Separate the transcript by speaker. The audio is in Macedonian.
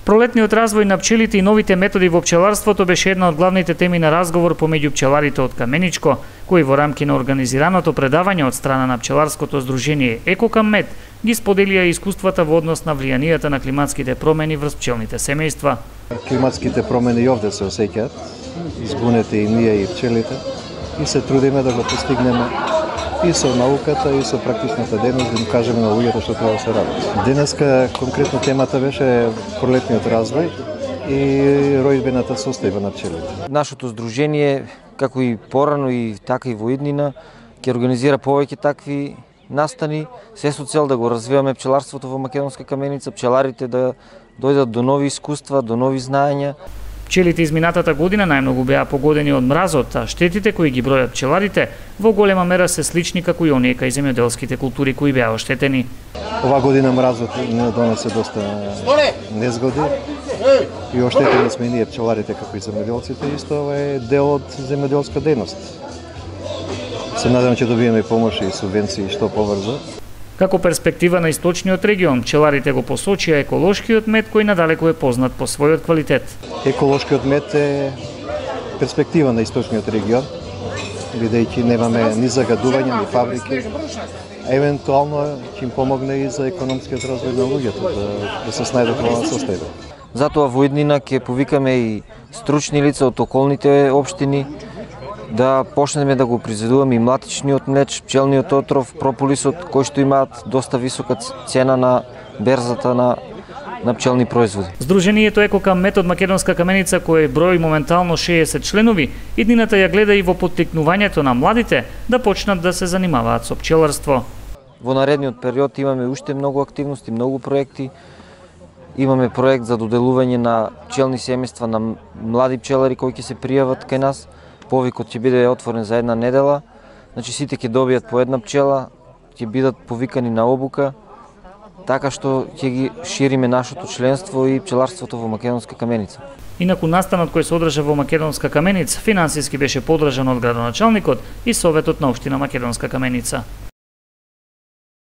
Speaker 1: Пролетниот развој на пчелите и новите методи во пчеларството беше една од главните теми на разговор помеѓу пчеларите од Каменичко, кои во рамки на организираното предавање од страна на пчеларското здружение Екокаммет ги споделија искуствата во однос на влијанијата на климатските промени врз пчелните семејства.
Speaker 2: Климатските промени и овде се осеќаат, изгунете и ние и пчелите, и се трудиме да го постигнеме и со науката, и со практичната дејност, да им кажеме на луѓето што треба да се работи. Денеска конкретно темата беше пролетниот развој и ројдбената состојба на пчелите.
Speaker 3: Нашето здружение, како и порано и така и во иднина, ќе организира повеќе такви настани, се со цел да го развиваме пчеларството во Македонска Каменица, пчеларите да дојдат до нови искуства, до нови знаења.
Speaker 1: Пчелите изминатата година најмногу беа погодени од мразот, а штетите кои ги бројат пчеларите во голема мера се слични како и оние кај земјоделските култури кои беа оштетени.
Speaker 2: Ова година мразот не донесе доста незгоди и оштетени сме ние пчеларите како и земјоделците, исто ова е дел од земјоделска дејност. Се надевам ќе добиеме помош и субвенции што побрзо.
Speaker 1: Како перспектива на источниот регион, пчеларите го посочија еколошкиот мед кој надалеку е познат по својот квалитет.
Speaker 2: Еколошкиот мед е перспектива на источниот регион, бидејќи немаме ни загадување, ни фабрики. Евентуално ќе им помогне и за економскиот развој на луѓето, да се снајдат во оваа состојба.
Speaker 3: Затоа во иднина ќе повикаме и стручни лица од околните општини, да почнеме да го произведуваме и млатичниот млеч, пчелниот отров, прополисот, кои што имаат доста висока цена на берзата на пчелни производи.
Speaker 1: Здружението Екокаммет од Македонска Каменица, кој брои моментално 60 членови, иднината ја гледа и во поттикнувањето на младите да почнат да се занимаваат со пчеларство.
Speaker 3: Во наредниот период имаме уште многу активности, многу проекти. Имаме проект за доделување на пчелни семејства на млади пчелари кои ќе се пријават кај нас. Повикот ќе биде отворен за една недела, значи сите ќе добијат по една пчела, ќе бидат повикани на обука, така што ќе ги шириме нашето членство и пчеларството во Македонска Каменица.
Speaker 1: Инаку настанот кој се одржа во Македонска Каменица финансиски беше поддржан од градоначалникот и Советот на општина Македонска Каменица.